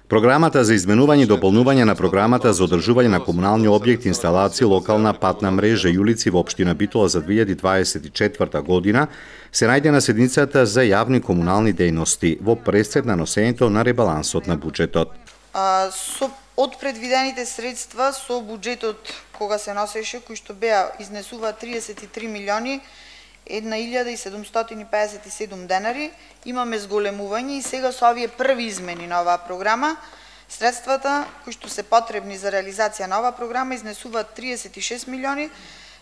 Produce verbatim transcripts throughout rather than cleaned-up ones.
Програмата за изменување и дополнување на програмата за одржување на комунални објекти, инсталации, локална патна мрежа и улици во општина Битола за две илјади дваесет и четврта година се најде на седницата за јавни комунални дејности во пресед на носењето на ребалансот на буџетот. А, со од предвидените средства со буџетот кога се носеше, кои што беа изнесува триесет и три милиони една илјада и седумстотини пеесет и седум денари, имаме зголемување и сега со овие први измени на оваа програма, средствата кои што се потребни за реализација на оваа програма изнесуваат триесет и шест милиони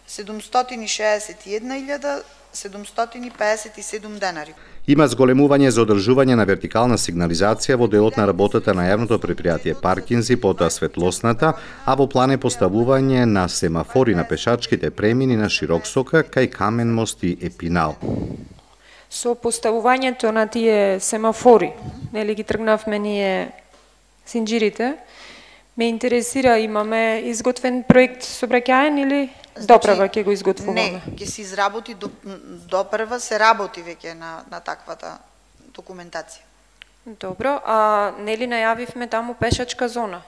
седумстотини шеесет и една илјада седумстотини пеесет и седум денари. Има зголемување за одржување на вертикална сигнализација во делот на работата на јавното предпријатие Паркинзи, потоа светлосната, а во план е поставување на семафори на пешачките премини на Широксока кај Камен мост и Епинал. Со поставувањето на тие семафори, нели ги тргнавме ние синџирите, ме интересира, имаме изготвен проект сообраќаен или допрва ќе го изготвуваме? Не, ќе се изработи допрва, се работи веќе на на таквата документација. Добро, а нели најавивме таму пешачка зона?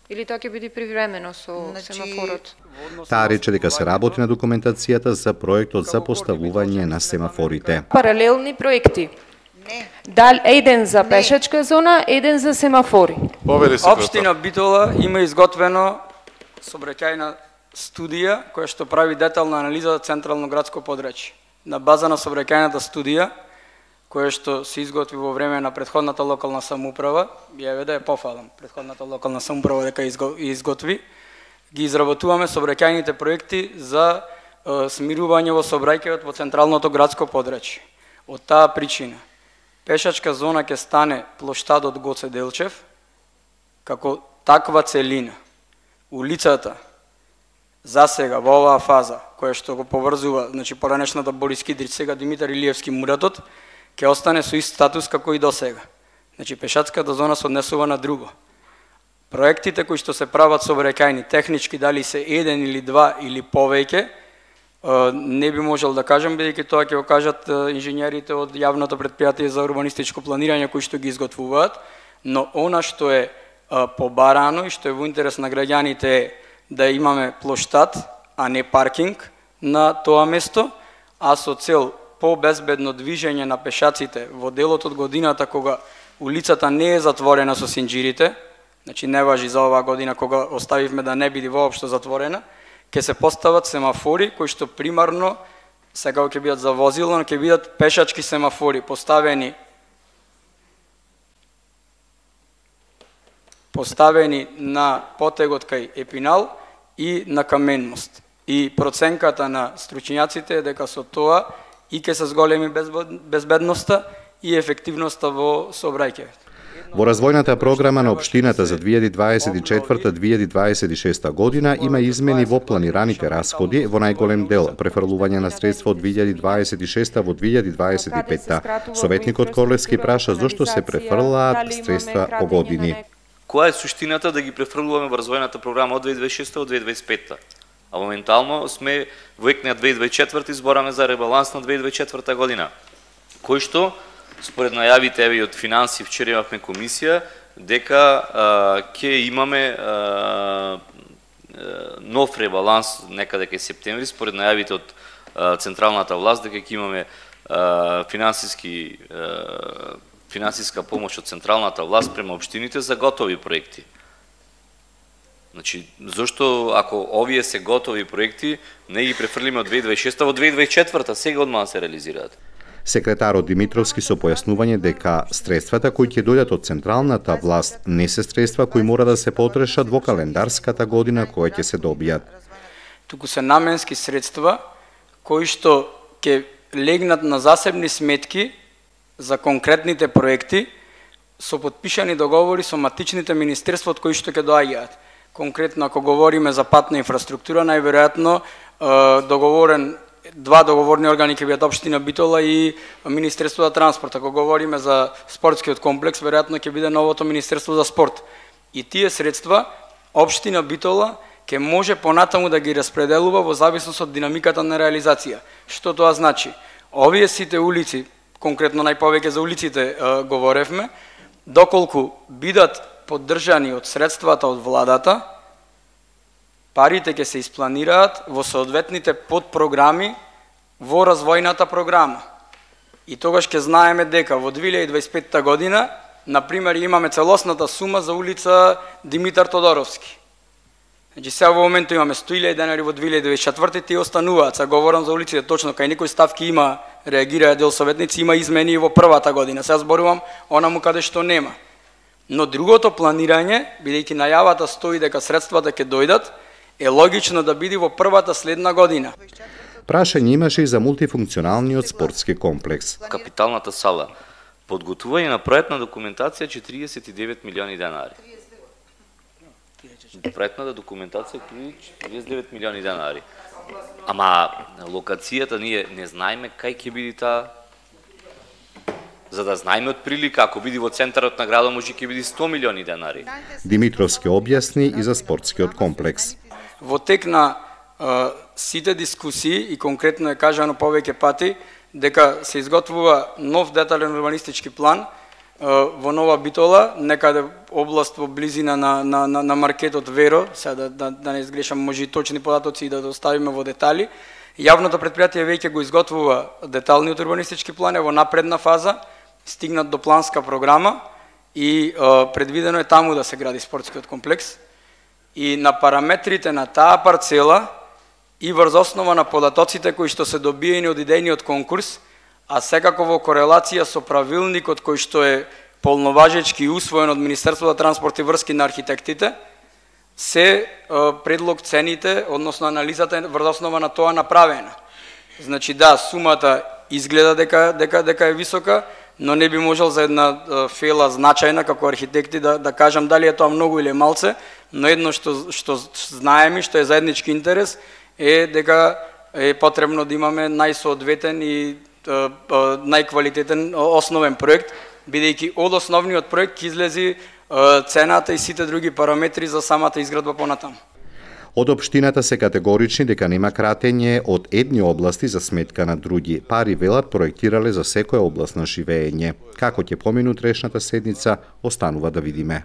Или тоа ќе биде привремено со значи, семафорот? Таа рече дека се работи на документацијата за проектот за поставување на семафорите. Паралелни проекти. Не. Дал еден за пешачка зона, еден за семафори. Општина Битола има изготвено сообраќајна студија која што прави детална анализа за централно градско подрачје. На база на сообраќајната студија која што се изготви во време на претходната локална самоуправа, ја да ја пофалам, претходната локална самоуправа дека изготви, ги изработуваме сообраќајните проекти за е, смирување во сообраќајот во централното градско подрачје. Од таа причина пешачка зона ќе стане плоштадот Гоце Делчев како таква целина. Улицата за сега во оваа фаза која што го поврзува, значи поранешната Борис Кидрич, сега Димитар Илиевски Муратот, ќе остане со ист статус како и до сега. Значи пешачката зона се однесува на друго. Проектите кои што се прават сообраќајни, технички дали се еден или два или повеќе, не би можел да кажам, бидејќи тоа ќе го кажат инженерите од јавното предпријатие за урбанистичко планирање кои што ги изготвуваат, но она што е побарано и што е во интерес на граѓаните е да имаме плоштад, а не паркинг на тоа место, а со цел по-безбедно движење на пешаците во делот од годината кога улицата не е затворена со синџирите, значи не важи за оваа година кога оставивме да не биде воопшто затворена, ќе се постават семафори кои што примарно сега ќе бидат за возило, но ќе бидат пешачки семафори поставени поставени на потегот кај Епинал и на Камен мост. И проценката на стручњаците е дека со тоа и ќе се зголеми безбедноста и ефективноста во сообраќајот. Во развојната програма на општината за две илјади дваесет и четврта - две илјади дваесет и шеста година има измени во планираните расходи, во најголем дел префрлување на средства од две илјади дваесет и шеста во две илјади дваесет и петта. Советникот Корлевски праша зошто се префрлаат средства по години. Која е суштината да ги префрлуваме во развојната програма од две илјади дваесет и шеста во две илјади дваесет и петта? А моментално сме во екниот две илјади дваесет и четврта и збораме за ребаланс на две илјади дваесет и четврта година, кој што според најавите еве и од финанси, вчера имавме комисија дека ќе имаме а, нов ребаланс некаде кај септември, според најавите од а, централната власт дека ќе имаме а, финансиски а, финансиска помош од централната власт према општините за готови проекти. Значи, зошто ако овие се готови проекти, не ги префрлиме од две илјади дваесет и шеста во две илјади дваесет и четврта, сега одма да се реализираат? Секретарот Димитровски со појаснување дека средствата кои ќе дојдат од централната власт не се средства кои мора да се потрошат во календарската година која ќе се добијат. Туку се наменски средства кои што ќе легнат на засебни сметки за конкретните проекти со подпишани договори со матичните министерства од кои што ќе доаѓаат. Конкретно ако говориме за патна инфраструктура, најверојатно договорен два договорни органи ќе бидат општина Битола и Министерство за транспорт. Ако говориме за спортскиот комплекс, веројатно ќе биде новото Министерство за спорт. И тие средства општина Битола ќе може понатаму да ги распределува во зависност од динамиката на реализација. Што тоа значи? Овие сите улици, конкретно најповеќе за улиците говоревме, доколку бидат поддржани од средствата од владата, парите ќе се испланираат во соодветните подпрограми во развојната програма. И тогаш ќе знаеме дека во две илјади дваесет и петта година, например, имаме целосната сума за улица Димитар Тодоровски. Значи сега во моментот имаме сто илјади денари во две илјади дваесет и четврта и остануваат. Сега говорам за улиците точно, кај некои ставки има, реагираат дел советници, има измени и во првата година. Сега зборувам онаму каде што нема. Но другото планирање, бидејќи најавата стои дека средствата ќе дојдат, е логично да биде во првата следна година. Прашање имаше и за мултифункционалниот спортски комплекс. Капиталната сала. Подготвување на проектна документација четириесет и девет милиони денари. Проектната документација триесет и девет милиони денари. Ама локацијата ние не знаеме кај ќе биде таа. За да знаеме од прилика, ако биде во центарот на градот, може ќе биде сто милиони денари. Димитровски објасни и за спортскиот комплекс. Во тек на а, сите дискусии и конкретно е кажано повеќе пати дека се изготвува нов детален урбанистички план а, во Нова Битола, некаде област во близина на, на, на, на маркетот Веро, сега да, да, да не изгрешам, може и точни податоци и да доставиме во детали. Јавното претпријатие веќе го изготвува деталниот урбанистички план, е во напредна фаза, стигнат до планска програма и а, предвидено е таму да се гради спортскиот комплекс. И на параметрите на таа парцела и врз основа на податоците кои што се добиени од идејниот конкурс, а секако во корелација со правилникот кој што е полноважечки усвоен од Министерството за транспорт и врски на архитектите, се а, предлог цените, односно анализата врз основа на тоа направена. Значи да, сумата изгледа дека дека дека е висока, но не би можел за една а, фела значајна како архитекти да да кажам дали е тоа многу или малце, но едно што што знаеме, што е заеднички интерес е дека е потребно да имаме најсоодветен и а, а, најквалитетен основен проект, бидејќи од основниот проект ќе излези а, цената и сите други параметри за самата изградба понатаму. Од општината се категорични дека нема кратење од едни области за сметка на други. Пари, велат, проектирале за секоја област на живење. Како ќе поминат решната седница, останува да видиме.